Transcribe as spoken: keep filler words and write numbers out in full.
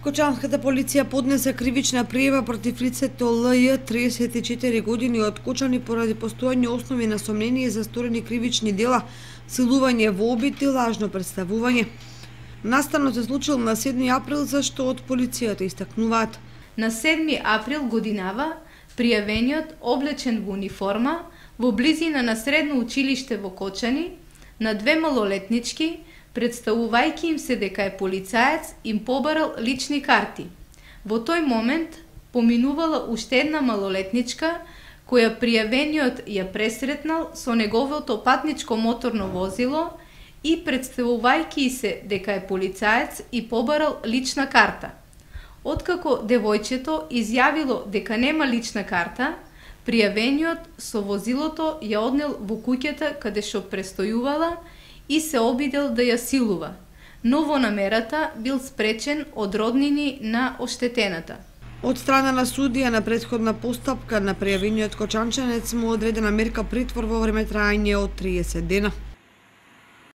Кочанската полиција поднесе кривична пријава против лицето Л Ј, триесет и четири години, од Кочани поради постојани основи на сомнение за сторени кривични дела, силување во обид и лажно представување. Настанот се случил на седми април, за што од полицијата истакнуваат. На седми април годинава пријавениот, облечен во униформа, во близина на средно училиште во Кочани, на две малолетнички, представувајќи им се дека е полицаец, им побарал лични карти. Во тој момент поминувала уште една малолетничка, која пријавениот ја пресретнал со неговото патничко моторно возило и представувајќи се дека е полицаец и побарал лична карта. Откако девојчето изјавило дека нема лична карта, пријавениот со возилото ја однел во куќата каде што престојувала и се обидел да ја силува, но во намерата бил спречен од роднини на оштетената. Од страна на судија на претходна постапка на пријавениот кочанчанец му одредена мерка притвор во време трајање од триесет дена.